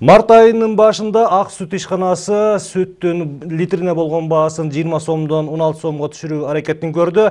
Март айынын башында Ак сүт ишканасы сүттүн литрине болгон баасын 20 сомдон 16 сомго түшүрүү аракетин көрдү.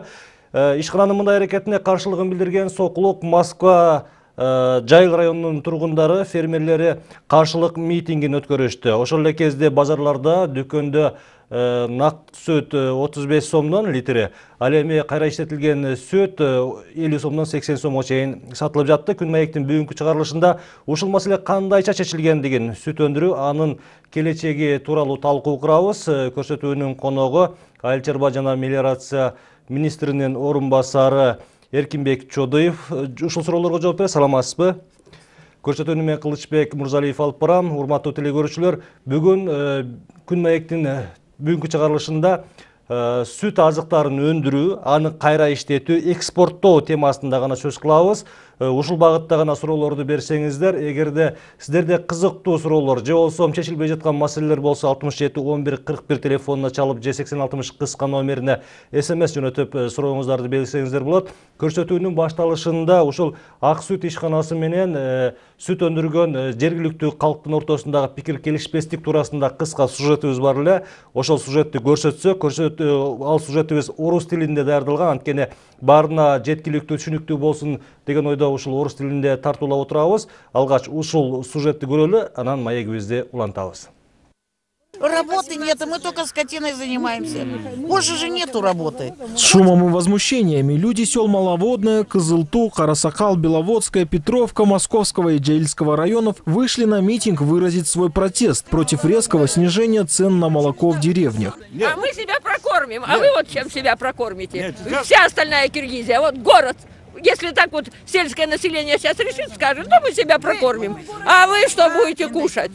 Ишкананын мындай аракетине каршылыгын билдирген Сокулук Москва Жайыл районунун тургундары, фермерлери каршылык митингин өткөрүштү. Ошол эле кезде базарларда, дүкөндө нак сүт 35 сомдон литри, ал эми кайра иштетилген сүт 50 сомдон 80 сомго чейин сатылып жатты. Күн маектин бүгүнкү чыгарылышында ушул маселе кандайча чечилгендигин, сүт өндүрүү, анын келечеги тууралуу талкуу курабыз. Көрсөтүүнүн коногу Айыл чарба жана мелиорация министринин орун басары Эркинбек Чодуев. Ушул суроолорго жооп берет. Саламатсызбы? Көрсөтүүнү мен Кылычбек Мурзалиев алып барам. Урматтуу телекөрүүчүлөр, бүгүн күн маектин бүгүнкү чыгарылышында сүт азыктарын өндүрүү, аны кайра иштетүү, экспорттоо темасында гана сөз кылабыз. Ушул багытта гана суроолорду берсеңиздер, эгерде сиздерде кызыктуу суроолор же болсо чечилбей жаткан маселелер болсо 67 11 41 телефонуна чалып же 8060 кыска номерине СМС жөнөтүп сурооңуздарды белгилесеңиздер болот. Көрсөтүүнүн башталышында ушул Ак сүт ишканасы менен сүт өндүргөн жергиликтүү калктын ортосундагы пикир келишпестик туурасында кыска сюжетибиз бар эле. Ошол сюжетти көрсөтсөк, ал сюжетибиз орус тилинде даярдалган, анткени баарына жеткиликтүү, түшүнүктүү болсун деген ойдо ушул орус тилинде тартуулап отурабыз. Алгач ушул сюжетти көрөлү, анан маегибизди улантабыз. Работы нет, мы только скотиной занимаемся. Больше же нету работы. С шумом и возмущениями люди сел Маловодное, Кызылту, Карасакал, Беловодская, Петровка, Московского и Джаильского районов вышли на митинг выразить свой протест против резкого снижения цен на молоко в деревнях. А мы себя прокормим, а вы вот чем себя прокормите? Вся остальная Киргизия, вот город. Если так вот сельское население сейчас решит, скажет, то мы себя прокормим. А вы что будете кушать?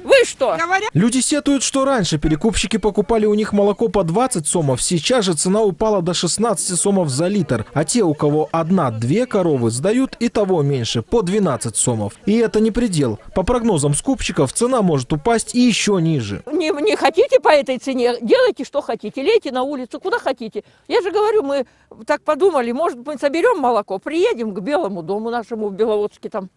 Вы что? Люди сетуют, что раньше перекупщики покупали у них молоко по 20 сомов, сейчас же цена упала до 16 сомов за литр. А те, у кого 1-2 коровы, сдают и того меньше, по 12 сомов. И это не предел. По прогнозам скупщиков, цена может упасть и еще ниже. Не хотите по этой цене, делайте что хотите, лейте на улицу, куда хотите. Я же говорю, мы так подумали, может мы соберем молоко, приедем к Белому дому нашему в Беловодске там.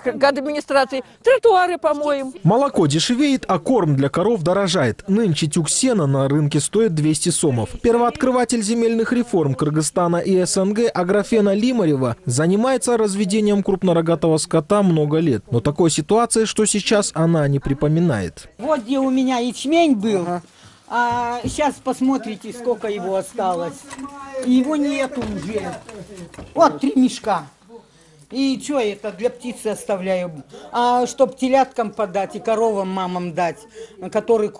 К администрации, тротуары помоем. Молоко дешевеет, а корм для коров дорожает. Нынче тюк сена на рынке стоит 200 сомов. Первооткрыватель земельных реформ Кыргызстана и СНГ Аграфена Лимарева занимается разведением крупнорогатого скота много лет. Но такой ситуации, что сейчас, она не припоминает. Вот где у меня ячмень был, а сейчас посмотрите, сколько его осталось. Его нету уже. Вот 3 мешка. И что это, для птицы оставляю. А чтоб теляткам подать и коровам мамам дать, которые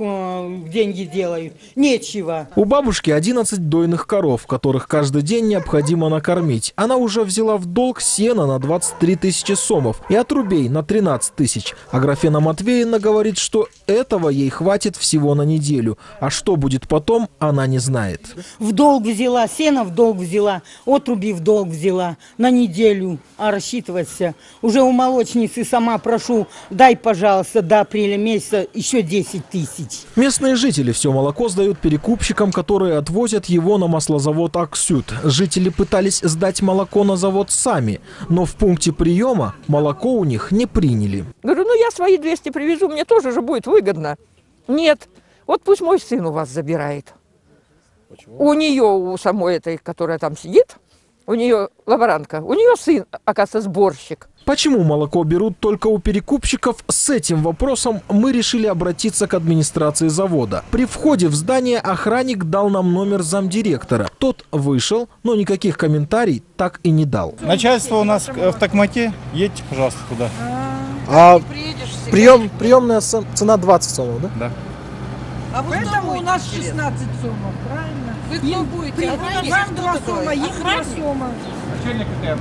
деньги делают, нечего. У бабушки 11 дойных коров, которых каждый день необходимо накормить. Она уже взяла в долг сена на 23 тысячи сомов и отрубей на 13 тысяч. Аграфена Матвеевна говорит, что этого ей хватит всего на неделю. А что будет потом, она не знает. В долг взяла, сено в долг взяла, отруби в долг взяла на неделю. А рассчитываться. Уже у молочницы сама прошу, дай, пожалуйста, до апреля месяца еще 10 тысяч. Местные жители все молоко сдают перекупщикам, которые отвозят его на маслозавод Аксют. Жители пытались сдать молоко на завод сами, но в пункте приема молоко у них не приняли. Говорю, ну я свои 200 привезу, мне тоже же будет выгодно. Нет, вот пусть мой сын у вас забирает. Почему? У нее, у самой этой, которая там сидит, у нее лаборантка, у нее сын, оказывается, сборщик. Почему молоко берут только у перекупщиков? С этим вопросом мы решили обратиться к администрации завода. При входе в здание охранник дал нам номер замдиректора. Тот вышел, но никаких комментариев так и не дал. Начальство у нас в Токмаке, едьте, пожалуйста, туда. Приемная цена 20 сомов, да? Да. А вы поэтому у нас 16 сомов, правильно? Вы кто будете? Вам 2 сома, их 2 сома. Начальник КТМ.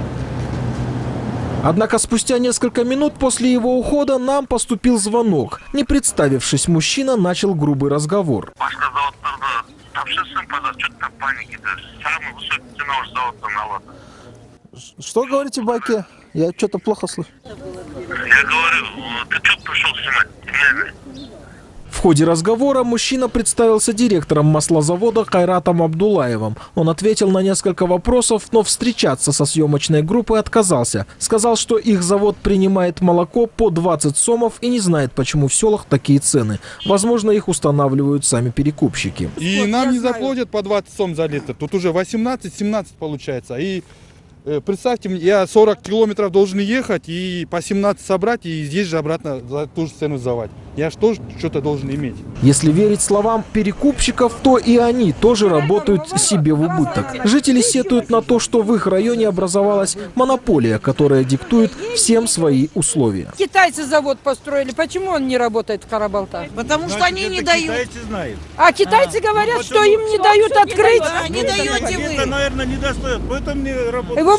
Однако спустя несколько минут после его ухода нам поступил звонок. Не представившись, мужчина начал грубый разговор. Что говорите, Баке? Я что-то плохо слышу. Я говорю, ты что пришел снимать? В В ходе разговора мужчина представился директором маслозавода Кайратом Абдулаевым. Он ответил на несколько вопросов, но встречаться со съемочной группой отказался. Сказал, что их завод принимает молоко по 20 сомов и не знает, почему в селах такие цены. Возможно, их устанавливают сами перекупщики. И нам не заплатят по 20 сом за литр. Тут уже 18-17 получается. И представьте, я 40 километров должен ехать и по 17 собрать и здесь же обратно за ту же цену сдавать. Я же тоже что-то должен иметь. Если верить словам перекупщиков, то и они тоже работают себе в убыток. Жители сетуют на то, что в их районе образовалась монополия, которая диктует всем свои условия. Китайцы завод построили, почему он не работает в Карабалтах? Потому что они не дают. А китайцы говорят, что им не дают открыть. Да, не даете вы. Наверное, не достает, поэтому не работает. Его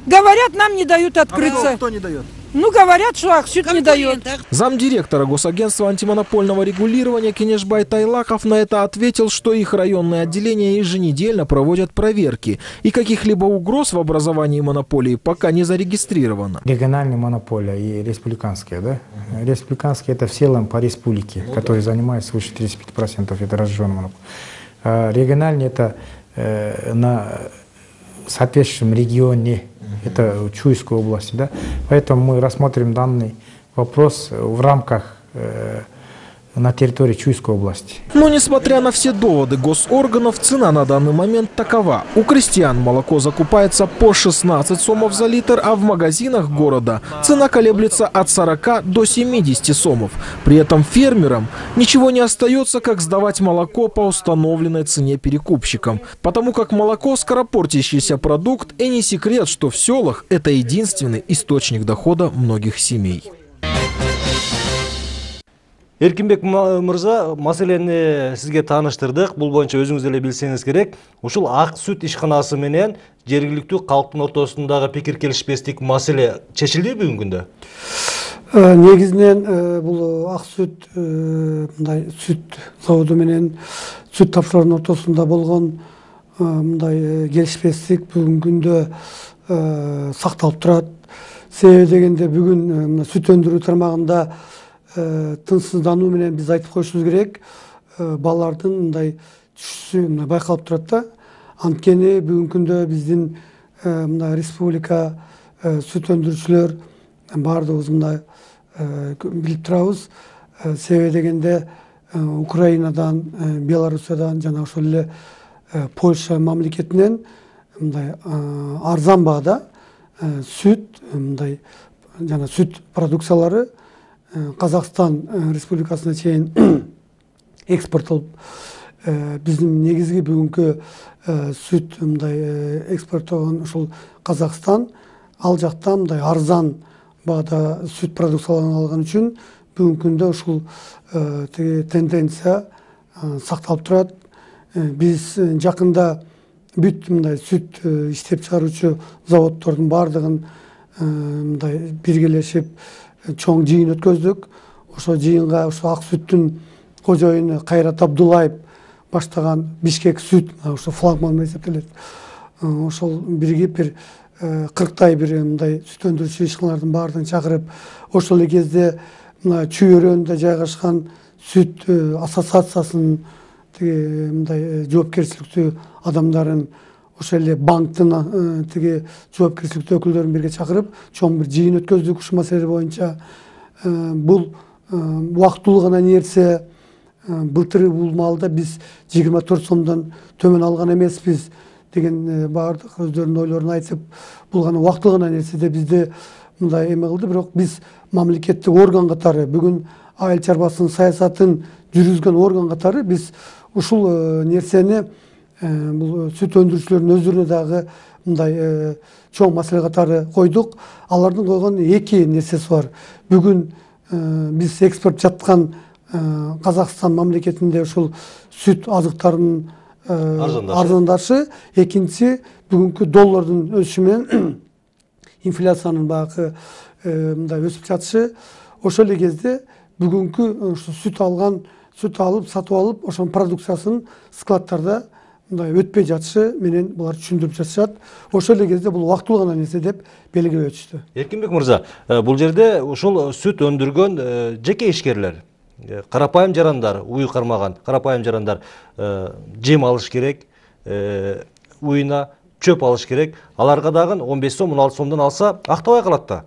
говорят, нам не дают открыться. Кто не дает? Ну, говорят, что Аксют не дает. Замдиректора Госагентства антимонопольного регулирования Кенешбай Тайлаков на это ответил, что их районные отделения еженедельно проводят проверки, и каких-либо угроз в образовании монополии пока не зарегистрировано. Региональная монополия и республиканская, да? Республиканская — это в целом по республике, которые занимают свыше 35%, это разжиженная монополия. А региональная — это на соответствующем регионе, это Чуйской области, да? Поэтому мы рассмотрим данный вопрос в рамках на территории Чуйской области. Но несмотря на все доводы госорганов, цена на данный момент такова. У крестьян молоко закупается по 16 сомов за литр, а в магазинах города цена колеблется от 40 до 70 сомов. При этом фермерам ничего не остается, как сдавать молоко по установленной цене перекупщикам. Потому как молоко — скоропортящийся продукт, и не секрет, что в селах это единственный источник дохода многих семей. Эркинбек мырза, маселени сизге тааныштырдык. Бул боюнча өзүңүз эле билсеңиз керек. Ушул ак сүт ишканасы менен жергиликтүү калктын ортосундагы пикир келишпестик маселе чечилди бүгүнкү күндө? Негизинен бул ак сүт мындай сүт заводу менен сүт тапшыруунун ортосунда болгон мындай келишпестик бүгүнкү күндө сакталып турат. Себеби дегенде бүгүн сүт өндүрүү тармагында тынчсыздануу менен биз айтып коюшубуз керек. Балардын мындай түшүшү байкалып турат да. Анткени бүгүнкү күндө биздин мындай республика сүт өндүрүүчүлөр баардыгыбыз мындай билип турабыз. Себеби дегенде Украинадан, Белоруссиядан жана ошол эле Польша мамлекетинен мындай арзан баада сүт мындай жана сүт продукциялары Казакстан Республикасына чейин экспорттолуп, биздин негизги бүгүнкү сүт мындай экспорттогон ушул Казакстан, ал жактан мындай арзан баада сүт продукцияларын алган үчүн бүгүнкү күндө ушул тенденция сакталып турат. Биз жакында бүт мындай сүт иштеп чыгаруучу заводдордун баардыгын мындай биргелешип чоң жыйын өткөздүк. Ошо жыйынга ошо ак сүттүн кожоюну Кайрат Абдулаев баштаган Бишкек сүт, ошо флагман эсептелет. Ошол биригип бир 40 бир мындай сүт өндүрүүчү ишканалардын баардыгын чакырып, ошол эле кезде мына Чүй өрөөнүндө жайгашкан сүт ассоциациясынын тиги мындай жоопкерчиликтүү адамдарын, ошол эле банктын тиги жоопкерчиликтүү өкүлдөрүн бирге чакырып, чоң бир жыйын өткөздүк ушул маселе боюнча. Бул убактылуу гана нерсе. Былтыр бул маалда биз 24 сомдон төмөн алган эмеспиз деген баардык өздөрүнүн ойлорун айтып, бул гана убактылуу гана нерсе деп бизди мындай эме кылды. Бирок биз мамлекеттик орган катары, бүгүн айыл чарбасынын саясатын жүргүзгөн орган катары биз ушул нерсени бул сүт өндүрүүчүлөрдүн өздөрүнө дагы мындай чоң маселе катары койдук. Алардын койгон эки нерсеси бар. Бүгүн биз экспорт жаткан Казакстан мамлекетинде ушул сүт азыктарынын арзандашы, экинчиси бүгүнкү доллардын өсүшү менен инфляциянын багы мындай өсүп жатышы. Ошол эле кезде бүгүнкү сүт алып, сатып алып, ошонун продукциясын складтарда мындай өтпөй жатышы менен булар түшүндүрүп жатышат. Ошол эле кезде бул убактылуу гана нерсе деп белгилеп өтүштү. Эркинбек мырза, бул жерде ушул сүт өндүргөн жеке ишкерлер, карапайым жарандар, уй кармаган карапайым жарандар жем алыш керек, уйуна чөп алыш керек. Аларга дагы 15 сом, 16 сомдон алса актабай калат да.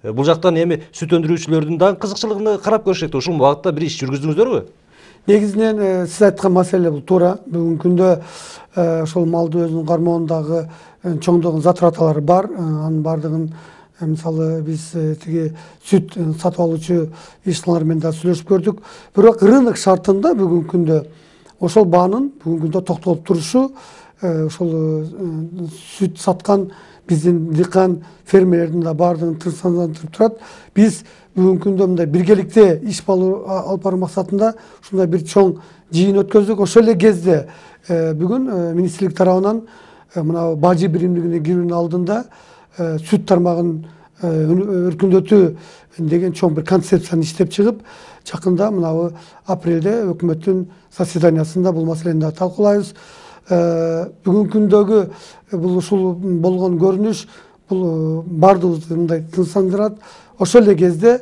Бул жактан эми сүт өндүрүүчүлөрдүн дагы кызыкчылыгын карап көрүш керек. Ушул багытта бир иш жүргүздүңүздөрбү? Негизинен сиз айткан маселе бул туура. Бүгүнкү күндө ошол малды өзүнүн кармоондагы чоңдогон затраталары бар. Анын бардыгын мисалы биз тиги сүт сатып алуучу ишканалар менен да сүйлөшүп көрдүк. Бирок рынок шартында бүгүнкү күндө ошол баанын бүгүнкү күндө токтолуп турушу ошол сүт саткан биздин дыйкан фермерлердин да бардыгын тынчсыздандырып турат. Биз бүгүнкү күндө мындай биргеликте иш алып баруу максатында ушундай бир чоң жыйын өткөздүк. Ошол эле кезде бүгүн министрлик тарабынан мына бажы биримдигине кирүүнүн алдында сүт тармагын өркүндөтүү деген чоң бир концепцияны иштеп чыгып, жакында мына апрелде өкмөттүн заседаниясында бул маселени да талкуулайбыз. Бүгүнкү күндөгү бул ушул болгон көрүнүш бул бардыгыбызды мындай тынчсыздандырат. Ошол эле кезде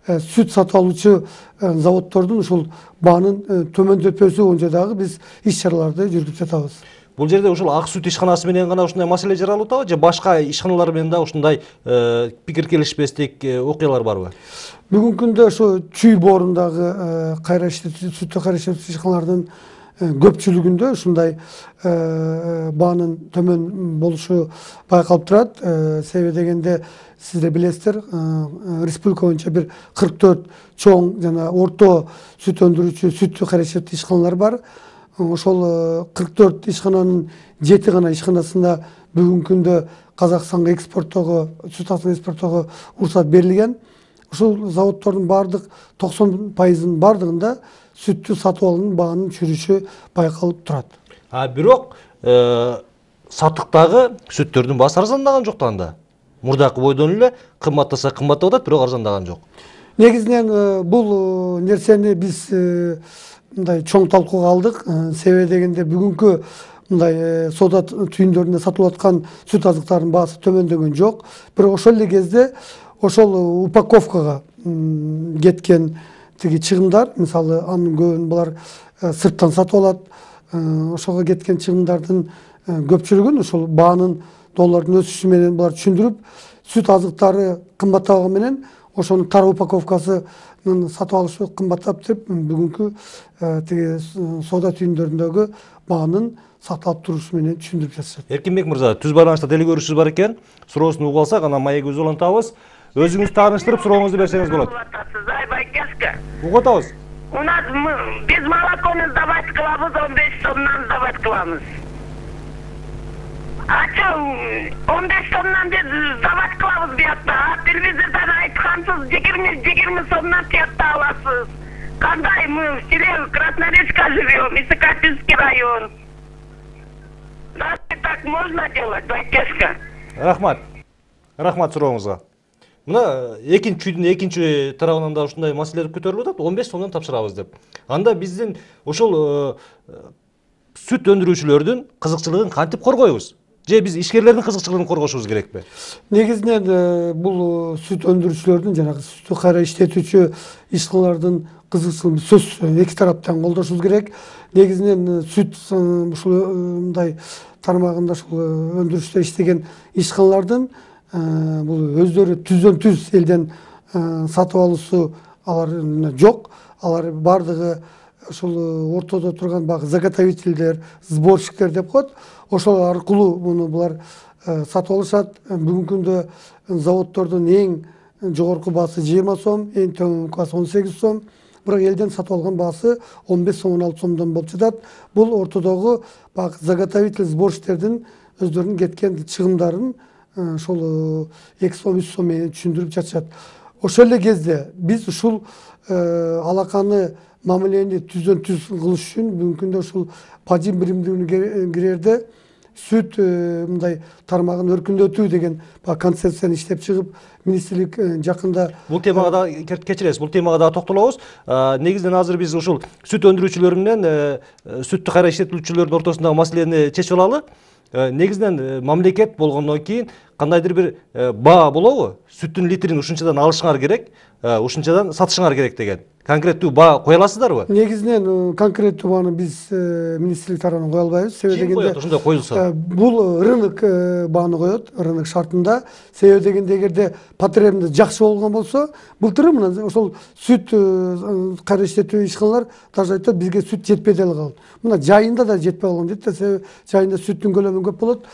сүт сатып алуучу заводдордун ушул баанын төмөндөтпөсү боюнча дагы биз иш чараларды жүргүзүп жатабыз. Бул жерде ушул ак сүт ишканасы менен гана ушундай маселе жаралып атабы же башка ишканалар менен да ушундай пикир келишпестик окуялар барбы? Бүгүнкү күндө ошо Чүй боорундагы сүттү кайра иштетүүчү ишканалардын көпчүлүгүндө ушундай баанын төмөн болушу байкалып турат. Себеби дегенде сиздер билесиздер, республика боюнча бир 44 чоң жана орто сүт өндүрүүчү сүттү кайра иштетүү ишканалар бар. Ошол 44 ишкананын 7 гана ишканасында бүгүнкү күндө Казакстанга экспорттоого, сүт экспорттоого уруксат берилген. Ушул заводдордун бардык 90%-ын бардыгында сүттү сатып алуунун баанын чүрүшү байкалып турат. Бирок сатыктагы сүттөрдүн баасы арзандаган жок да анда. Мурдакы бойдон эле кымбаттаса кымбаттап атат, бирок арзандаган жок. Негизинен бул нерсени биз мындай чоң талкууга алдык. Себеби дегенде бүгүнкү мындай соода түйүндөрүндө сатылып аткан сүт азыктарынын баасы төмөндөгөн жок. Бирок ошол эле кезде ошол упаковкага кеткен тиги чыгымдар, мисалы анын көбүн булар сырттан сатып алат. Ошого кеткен чыгымдардын көпчүлүгүн ушул баанын доллардын өсүшү менен булар түшүндүрүп, сүт азыктары кымбаттаганы менен ошонун тар упаковкасынын сатып алышы кымбаттап деп бүгүнкү тиги соода түйүндөрүндөгү баанын сакталып турушу менен түшүндүрүп жатышат. Эркинбек мырза, түз байланышта деле көрүшүбүз бар экен. Суроосун угуп алсак, анан маегибизди улантабыз. Өзүңүз тааныштырып сурооңузду берсеңиз болот. Угуп атабыз. У нас без молоконы сдавать кылабыз, 15 сомдон сдавать кылабыз. А чё, 15 сомдон без сдавать кылабыз буякта? Телевизордон айткансыз 20 сомдон тиякта аласыз. Кандай мы в селе Красноречка живем, Исыкапинский район. Разве так можно делать, байкешка? Рахмат сурооңузга. Мына чүйдүн экинчи тарабынан да ушундай маселелер көтөрүлүп атат, 15 сомдон тапшырабыз деп. Анда биздин ошол сүт өндүрүүчүлөрдүн кызыкчылыгын кантип коргойбуз? Же биз ишкерлердин кызыкчылыгын коргошубуз керекпи? Негизинен бул сүт өндүрүүчүлөрдүн жанагы сүттү кайра иштетүүчү ишканалардын кызыкчылыгын сөзсүз эки тараптан колдошубуз керек. Негизинен сүт ушул мындай тармагында ушул өндүрүштө иштеген ишканалардын бул өздөрү түздөн-түз элден сатып алуусу алар жок. Алар бардыгы ошол ортодо турган багы заготовительдер, сборщиктер деп коет. Ошол аркылуу муну булар сатып алышат. Бүгүнкү күндө заводдордун эң жогорку баасы 20 сом, эң төмөнкү баасы 18 сом. Бирок элден сатып алган баасы 15 сом, 16 сомдон болуп жатат. Бул ортодогу багы заготовитель, сборщиктердин өздөрүнүн кеткен чыгымдарын ошол 2 сом, 3 сом менен түшүндүрүп жатышат. Ошол эле кезде биз ушул алаканы мамилени түздөн-түз кылыш үчүн бүгүнкү күндө ушул бажы биримдигине кирерде сүт мындай тармагын өркүндөтүү деген концепцияны иштеп чыгып, министрлик жакында бул темага да кечиресиз, бул темага да токтолобуз. Негизинен азыр биз ушул сүт өндүрүүчүлөр менен сүттү кайра иштетүүчүлөрдүн ортосундагы маселени чечип алалы. Негизинен мамлекет болгондон кийин кандайдыр бир баа болобу? Сүттүн литрин ушунчадан алышыңар керек. ушунчадан сатышыңар керек деген. Конкреттүү баа кое аласыздарбы? Негизинен конкреттүү бааны биз министрлик тарабынан кое албайбыз. Себеби дегенде ошондой коюлса. Бул рынок бааны коет, рынок шартында. Себеби дегенде эгерде потребность жакшы болгон болсо, былтыры мына ошол сүт кайра иштетүү ишканалар даже айтат, бизге сүт жетпей деле калды. Мына жайында да жетпей калган дейт да, себеби жайында сүттүн көлөмү көп болот.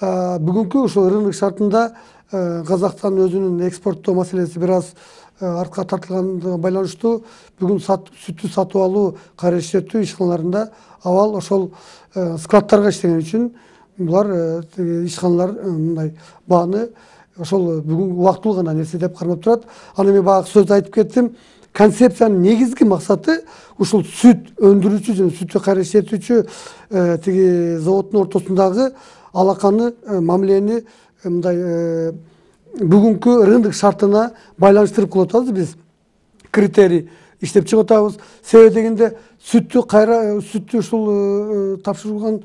Бүгүнкү ошол рынок шартында Казакстан өзүнүн экспорттоо маселеси бир аз артка тартылганына байланыштуу бүгүн сүттү сатып алуу, кайра иштетүү ишканаларында абал ошол складтарга иштеген үчүн булар ишканалар мындай бааны ошол бүгүн убактылуу гана нерсе деп кармап турат. Аны мен баягы сөздө айтып кеттим. Концепциянын негизги максаты ушул сүт өндүрүүчү жана сүттү кайра иштетүүчү тиги заводдун ортосундагы алаканы, мамилени мындай бүгүнкү рынок шартына байланыштырып кылып атабыз биз. Критерий иштеп чыгып атабыз. Себеби дегенде сүттү ушул тапшырылган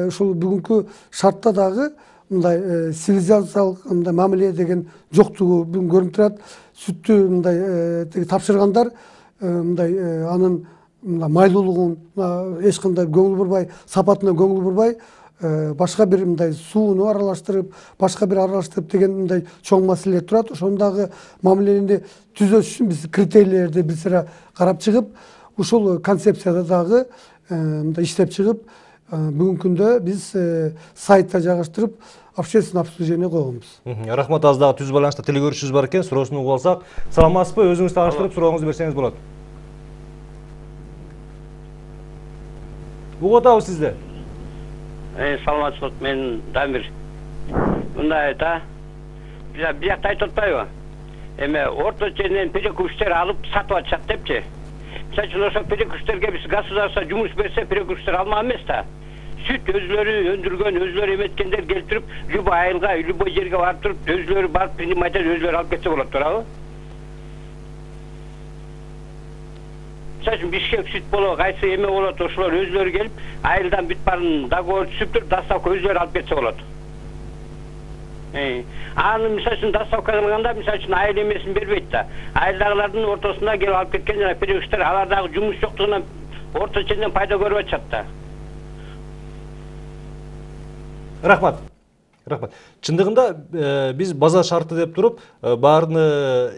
ушул бүгүнкү шартта дагы мындай цивилизациялык мындай мамиле деген жоктугу бүгүн көрүнүп турат. Сүттү мындай тапшыргандар мындай анын майлуулугун эч кандай көңүл бурбай, сапатына көңүл бурбай, башка бир мындай сууну аралаштырып, башка бир аралаштырып деген мындай чоң маселелер турат. Ошондагы мамилени түзөш үчүн биз критерийлерди бир сыра карап чыгып, ушул концепцияда дагы мындай иштеп чыгып, бүгүнкү күндө биз сайтта жайгаштырып, общественное обсуждение койгонбуз. Рахмат, аз дагы түз байланышта тил көрүшүбүз бар экен, суроосун угуп алсак. Саламатсызбы? Өзүңүз тааныштырып, сурооңузду берсеңиз болот. Угуп атабыз сизди. Саламатсызбы, мен Дамир. Мындай да, биякта айтып атпайбы? Эме орто ченен перекупчтер алып сатып атышат депчи. Мисалы үчүн ошо перекупчтерге биз государство жумуш берсе, перекупчтер алмак эмес да. Сүт өзлөрү өндүргөн, өзлөрү эметкендер келтирип, любой айылга, любой жерге барып туруп, өзлөрү барып принимать этип, өзлөрү алып кетсе болот, туурабы? Мисалы үчүн Бишкек сүт болобу, кайсы эме болот, ошолор өзлөрү келип, айылдан бүт баарын договор түзүп туруп, доставка өзлөрү алып кетсе болот. Аны мисалы үчүн доставка кылганда, мисалы үчүн айыл эмесин бербейт да. Айылдагылардын ортосунда келип алып кеткен жана перекупчтер алар дагы жумуш жоктугунан орто ченден пайда көрүп атышат да. Рахмат. Чындыгында биз база шарты деп туруп, баарыны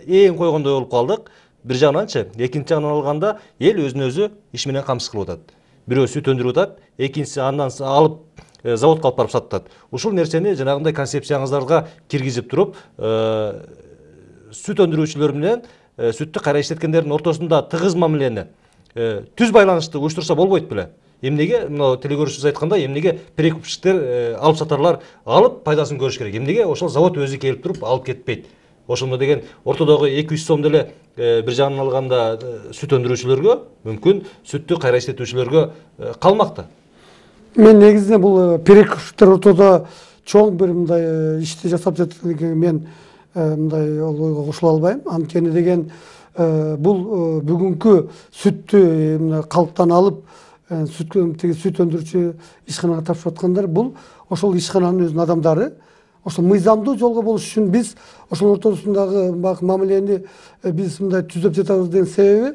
эң койгондой болуп калдык. Бир жагынан экинчи жагынан алганда эл өзүн өзү иш менен камсыз кылып атат. Бирөө сүт өндүрүп атат, экинчиси андан алып заводко алып барып сатат. Ушул нерсени жанагындай концепцияңыздарга киргизип туруп, сүт өндүрүүчүлөр менен сүттү кайра иштеткендердин ортосунда тыгыз мамилени, түз байланышты уюштурса болбойт беле? Эмнеге мына телекөрүүчүбүз айткандай, эмнеге перекупчтер алып сатарлар алып пайдасын көрүш керек? Эмнеге ошол завод өзү келип туруп алып кетпейт? Ошондо деген ортодогу 200 сом деле бир жагынан алганда сүт өндүрүүчүлөргө, мүмкүн сүттү кайра иштетүүчүлөргө калмакта. Мен негизинен бул перекупчтер ортодо чоң бир мындай ишти жасап жатканын мен мындай ойго кошула албайм. Анткени деген бул бүгүнкү сүттү калктан алып сүт өндүрүүчү ишканага тапшырып аткандар, бул ошол ишкананын өзүнүн адамдары. Ошол мыйзамдуу жолго болуш үчүн биз ошол ортосундагы мамилени биз мындай түзөп жатабыз деген себеби,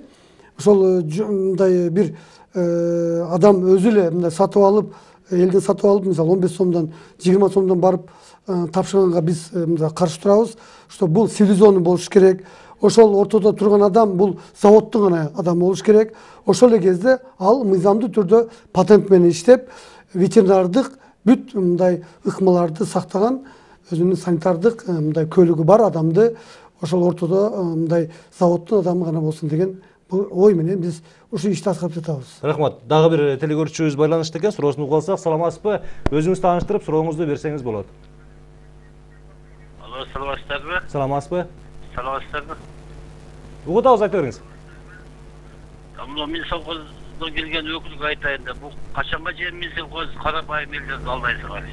ошол мындай бир адам өзү эле мындай сатып алып, элден сатып алып, мисалы 15 сомдон, 20 сомдон барып тапшырганга биз мындай каршы турабыз. Что бул цивилизованный болуш керек. Ошол ортодо турган адам бул заводдун гана адамы болуш керек. Ошол эле кезде ал мыйзамдуу түрдө патент менен иштеп, ветеринардык бүт мындай ыкмаларды сактаган, өзүнүн санитардык мындай көлүгү бар адамды ошол ортодо мындай заводдун адамы гана болсун деген ой менен биз ушул ишти аткарып жатабыз. Рахмат. Дагы бир телекөрүүчүбүз байланышта экен, суроосун угуп алсак. Саламатсызбы? Өзүңүз тааныштырып, сурооңузду берсеңиз болот. Алло, саламатсыздарбы? Саламатсызбы? Саламатсыздарбы? Угуп атабыз, айта бериңиз. Мен совхоздон келген өкүлгө айтайын да, бул качанга чейин мен совхоз карабайым элдерди алдайсыңар?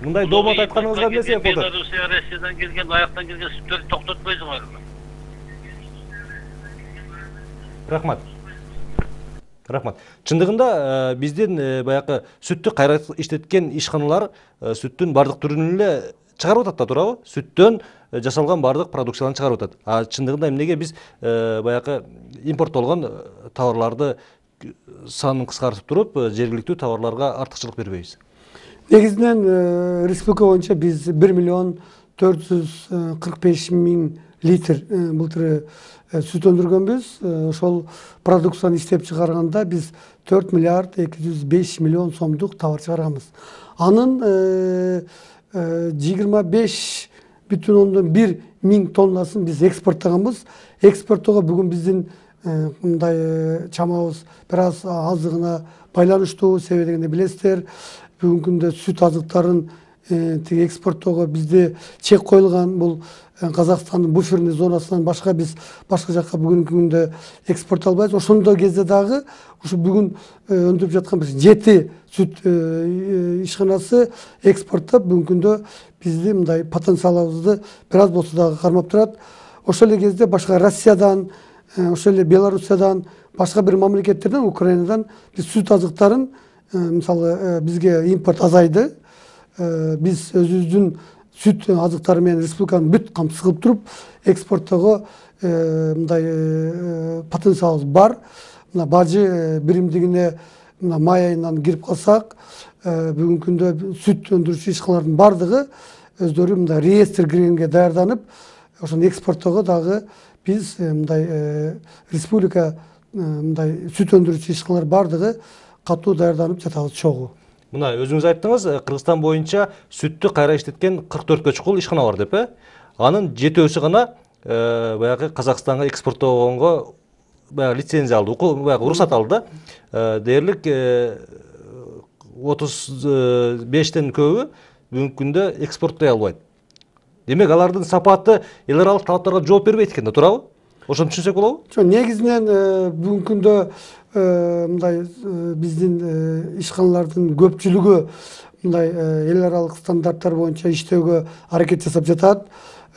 Мындай доомат айтканыңызга эмне себеп болду? Белоруссия, Россиядан келген, аяктан келген сүттөрдү токтотпойсуңарбы? Рахмат. Чындыгында биздин баягы сүттү кайра иштеткен ишканалар сүттүн бардык түрүн эле чыгарып атат да, туурабы? Сүттөн жасалган бардык продукцияларды чыгарып атат. А чындыгында эмнеге биз баягы импорттолгон товарларды санын кыскартып туруп, жергиликтүү товарларга артыкчылык бербейбиз? Негизинен республика боюнча биз 1.445.000 литр былтыр сүт өндүргөнбүз. Ошол продукцияны иштеп чыгарганда биз 4 миллиард 205 миллион сомдук товар чыгарганбыз. Анын 25,1 миң тоннасын биз экспорттаганбыз. Экспорттоого бүгүн биздин мындай чамабыз бир аз аздыгына байланыштуу. Себеби дегенде билесиздер, бүгүнкү күндө сүт азыктарын тиги экспорттоого бизде чек коюлган. Бул Казакстандын буферный зонасынан башка биз башка жакка бүгүнкү күндө экспорт албайбыз. Ошондой кезде дагы ушу бүгүн өндүрүп жаткан биз 7 сүт ишканасы экспорттоп бүгүнкү күндө бизди мындай потенциалыбызды бир аз болсо дагы кармап турат. Ошол эле кезде башка Россиядан, ошол эле Белоруссиядан, башка бир мамлекеттерден, Украинадан биз сүт азыктарын, мисалы бизге импорт азайды. Биз өзүбүздүн сүт азыктары менен республиканын бүт камсыз кылып туруп, экспорттоого мындай потенциалыбыз бар. Мына бажы биримдигине мына май айынан кирип калсак, бүгүнкү күндө сүт өндүрүүчү ишканалардын бардыгы өздөрү мындай реестр киргенге даярданып, ошону экспорттоого дагы биз мындай республика мындай сүт өндүрүүчү ишканалар бардыгы катуу даярданып жатабыз чогуу. Мына өзүңүз айттыңыз, Кыргызстан боюнча сүттү кайра иштеткен 44 чукул ишкана бар деп, анын 7-өсү гана баягы Казакстанга экспорттогонго баягы лицензия алды, баягы уруксат алды. Дээрлик 35тен көбү бүгүнкү күндө экспорттой албайт. Демек, алардын сапаты эл аралык талаптарга жооп бербейт экен да, туурабы? Ошону түшүнсөк болобу? Негизинен бүгүнкү күндө мындай биздин ишканалардын көпчүлүгү мындай эл аралык стандарттар боюнча иштөөгө аракет жасап жатат.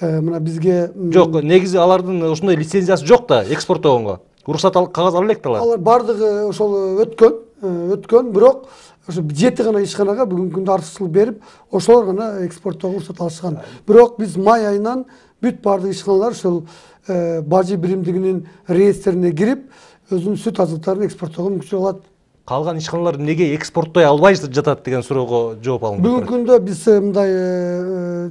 Мына бизге жок, негизи алардын ушундай лицензиясы жок да экспорттогонго. Уруксат кагаз ала элек да алар. Алар бардыгы ошол өткөн, бирок ошо 7 гана ишканага бүгүнкү күндө артыкчылык берип, ошолор гана экспорттоого уруксат алышкан. Бирок биз май айынан бүт бардык ишканалар ошол бажы биримдигинин реестрине кирип, өзүнүн сүт азыктарын экспорттоого мүмкүнчүлүк алат. Калган ишканалар неге экспорттой албай жатат деген суроого жооп алыңыз. Бүгүнкү күндө биз мындай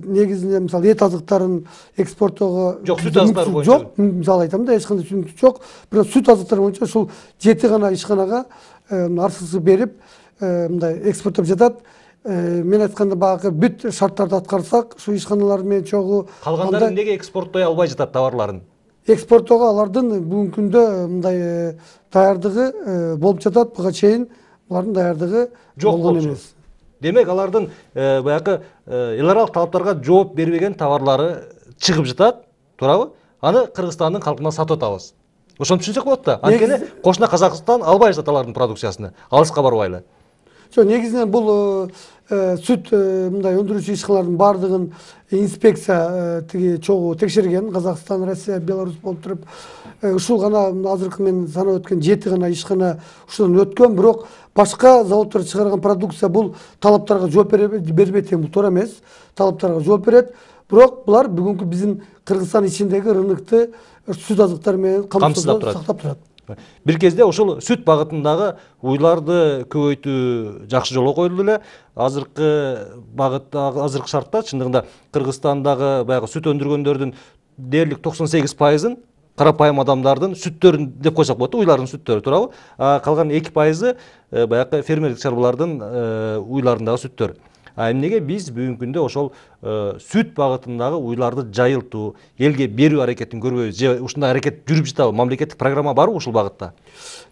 негизинен мисалы эт азыктарын экспорттоого жок, сүт азыктары боюнча жок, мисалы айтам да, эч кандай мүмкүнчүлүк жок. Бирок сүт азыктары боюнча ушул 7 гана ишканага артыкчылык берип мындай экспорттоп жатат. Мен айтканда багы бүт шарттарды аткарсак, ушу ишканалар менен чогуу калгандары неге экспорттой албай жатат товарларын? Экспорттоого алардын бүгүнкү күндө мындай даярдыгы болуп жатат. Буга чейин булардын даярдыгы болгон эмес. Демек, алардын баягы эл аралык талаптарга жооп бербеген товарлары чыгып жатат, туурабы? Аны Кыргызстандын калкына сатып атабыз. Ошону түшүнсөк болот да. Анткени кошуна Казакстан албай жатат алардын продукциясыны. Алыска барбайлы. Негизинен бул сүт мындай өндүрүүчү ишканалардын бардыгын инспекция тиги чогуу текшерген. Казакстан, Россия, Беларусь болуп туруп, ушул гана азыркы мен санап өткөн 7 гана ишкана ушудан өткөн. Бирок башка заводдор чыгарган продукция бул талаптарга жооп бербейт деген бул туура эмес. Талаптарга жооп берет. Бирок булар бүгүнкү биздин Кыргызстан ичиндеги рынокты сүт азыктары менен камсыздап турат. Бир кезде ошол сүт багытындагы уйларды көбөйтүү жакшы жолго коюлду эле. Азыркы багытта, азыркы шартта чындыгында Кыргызстандагы баягы сүт өндүргөндөрдүн дээрлик 98%-ын карапайым адамдардын сүттөрүн деп койсок болот, уйлардын сүттөрү, туурабы? Калган 2% баягы фермерлик чарбалардын уйларындагы сүттөр. Эмнеге биз бүгүнкү күндө ошол сүт багытындагы уйларды жайылтуу, элге берүү аракетин көрбөйбүз? Же ушундай аракет жүрүп жатабы? Мамлекеттик программа барбы ушул багытта?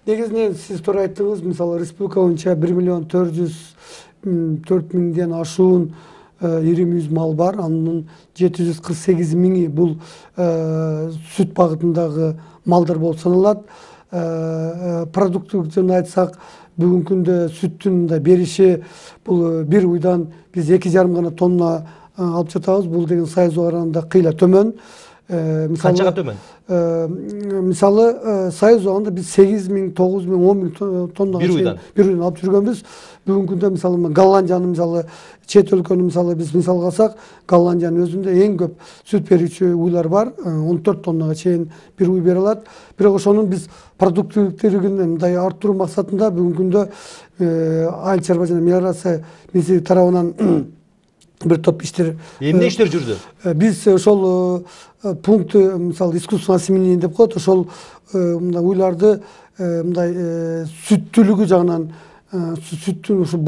Негизинен сиз туура айттыңыз, мисалы республика боюнча 1.404.000ден ашуун ири мүйүз мал бар. Анын 748.000 бул сүт багытындагы малдар болуп саналат. Продуктивден айтсак, бүгүнкү күндө сүттүн бериши бул бир уйдан биз 2,5 гана тонна алып жатабыз. Бул деген сайыз оранында кыйла төмөн. Канчага төмөн? Мисалы Союз убагында биз 8.000, 9.000, 10.000 тоннага бир уйдан алып жүргөнбүз. Бүгүнкү күндө мисалы Голландиянын мисалы чет өлкөнү мисалы биз мисал алсак, Голландиянын өзүндө эң көп сүт берүүчү уйлар бар. 14 тоннага чейин бир уй бере алат. Бирок ошонун биз продуктивдүүлүгүн мындай арттыруу максатында бүгүнкү күндө Айыл чарба жана мелиорация министрлиги тарабынан бир топ иштер. Эмне иштер жүрдү? Биз ошол пункт мисалы искусственное осеменение деп коет. Ошол мындай уйларды мындай сүттүүлүгү жагынан, сүттүн ушу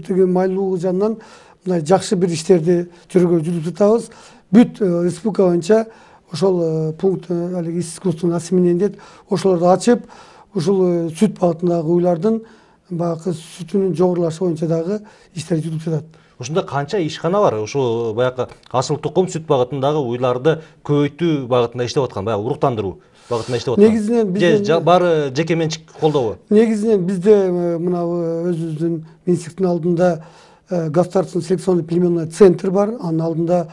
тиги майлуулугу жагынан мындай жакшы бир иштерди жүргүзүп жатабыз. Бүт республика боюнча ошол пункт алиги искусственное осеменение дейт. Ошолорду ачып, ушул сүт багытындагы уйлардын баягы сүтүнүн жогорулашы боюнча дагы иштер жүрүп жатат. Ушунда канча ишкана бар? Ушу баягы асыл тукум сүт багытындагы уйларды көбөйтүү багытында иштеп аткан, баягы уруктандыруу багытында иштеп аткан. Негизинен биздин баары жеке менчик колдообу? Негизинен бизде мына өзүбүздүн министрликтин алдында государственный селекционный племенной центр бар. Анын алдында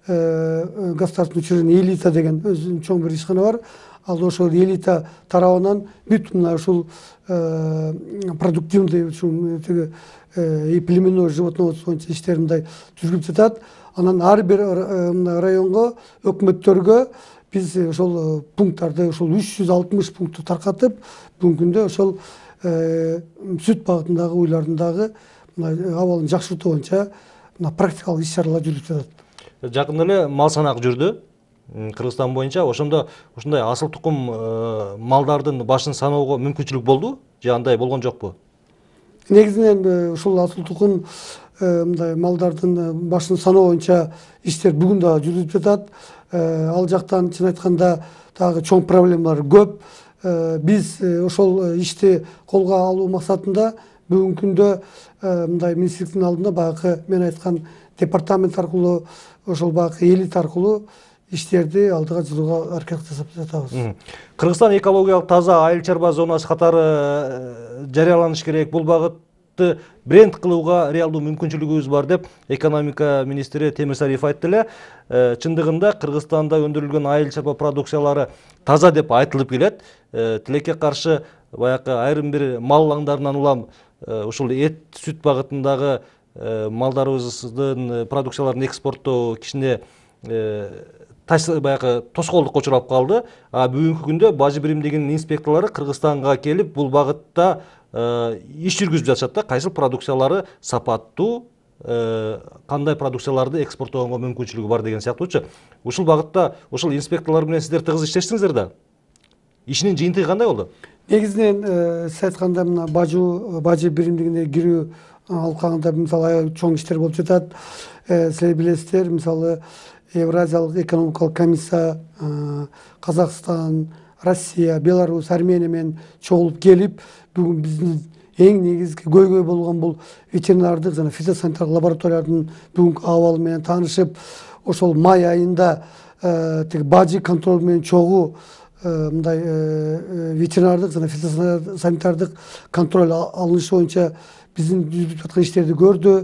государственный учреждение элита деген өзүнүн чоң бир ишкана бар. Ал ошол элита тарабынан бүт мына ушул продуктивный ушул тиги и племенной животноводство боюнча иштер мындай жүрүп жатат. Анан ар бир районго, өкмөттөргө биз ошол пункттарды, ошол 360 пунктту таркатып, бүгүнкү күндө ошол сүт багытындагы уйлардын дагы абалын жакшыртуу боюнча практикалык иш-чаралар жүрүп жатат. Жакында эле мал санак жүрдү Кыргызстан боюнча. Ошондо ушундай асыл тукум малдардын башын саноого мүмкүнчүлүк болду же андай болгон жокпу? Негизинен ушул асыл тукум мындай малдардын башын саноо боюнча иштер бүгүн дагы жүрүп жатат. Ал жактан чын айтканда дагы чоң проблемалар көп. Биз ошол ишти колго алуу максатында бүгүнкү күндө мындай министрликтин алдында баягы мен айткан департамент аркылуу, ошол баягы элит аркылуу иштерди алдыга жылууга аракет жасап жатабыз. Кыргызстан экологиялык таза айыл чарба зонасы катары жарыяланыш керек. Бул багытты бренд кылууга реалдуу мүмкүнчүлүгүбүз бар деп экономика министри Темир Сариев айтты эле. Чындыгында Кыргызстанда өндүрүлгөн айыл чарба продукциялары таза деп айтылып келет. Тилекке каршы баягы айрым бир мал аңдарынан улам ушул эт сүт багытындагы малдарыбыздын продукцияларын экспорттоо кичине баягы тоскоолдукка учурап калды. Бүгүнкү күндө бажы биримдигинин инспекторлору Кыргызстанга келип бул багытта иш жүргүзүп жатышат да. Кайсыл продукциялары сапаттуу, кандай продукцияларды экспорттоого мүмкүнчүлүгү бар деген сыяктуучу. Ушул багытта ушул инспекторлор менен сиздер тыгыз иштештиңиздер да. Ишинин жыйынтыгы кандай болду? Негизинен сиз айтканда мына бажы биримдигине кирүү алкагында мисалы чоң иштер болуп жатат. Силер билесиздер, мисалы Евразиялык экономикалык комиссия Казакстан, Россия, Беларусь, Армения менен чогулуп келип, бүгүн биздин эң негизги көйгөй болгон бул ветеринардык жана фитосанитардык лабораториялардын бүгүнкү абалы менен таанышып, ошол май айында тиги бажы контроль менен чогуу мындай ветеринардык жана фитосанитардык контроль алынышы боюнча биздин жүрүп жаткан иштерди көрдү.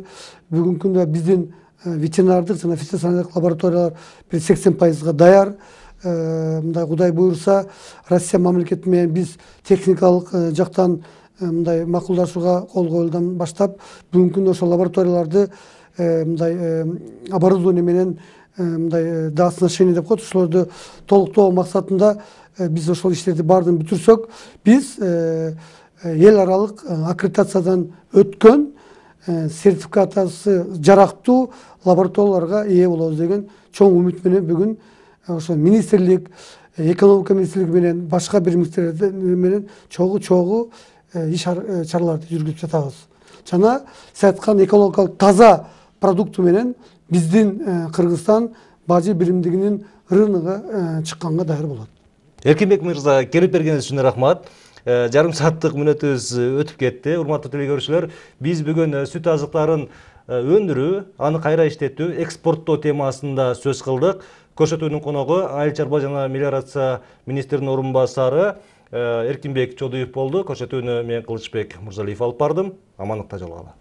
Бүгүнкү күндө биздин ветеринардык жана фитосанитардык лабораториялар 80% даяр. Мындай Кудай буйрса, Россия мамлекети менен биз техникалык жактан мындай макулдашууга кол коюлдан баштап, бүгүнкү күндө ошол лабораторияларды мындай оборудование менен мындай доосношение деп коет, ошолорду толуктоо максатында биз ошол иштерди баардыгын бүтүрсөк, биз эл аралык аккредитациядан өткөн сертификациясы жарактуу лабораторияларга ээ болобуз деген чоң үмүт менен бүгүн ошо министрлик, экономика министрлиги менен башка бир министрликтер менен чогуу иш-чараларды жүргүзүп жатабыз. Жана сиз айткан экологиялык таза продукты менен биздин Кыргызстан бажы биримдигинин рыногуна чыкканга даяр болот. Эркинбек мырза, келип бергениңиз үчүн рахмат. Жарым сааттык мүнөтүбүз өтүп кетти. Урматтуу телекөрүүчүлөр, биз бүгүн сүт азыктарын өндүрүү, аны кайра иштетүү, экспорттоо темасында сөз кылдык. Көрсөтүүнүн коногу айыл чарба жана мелиорация министринин орун басары Эркинбек Чодуев болду. Көрсөтүүнү мен Кылычбек Мурзалиев алып бардым. Амандыкта жолугалы.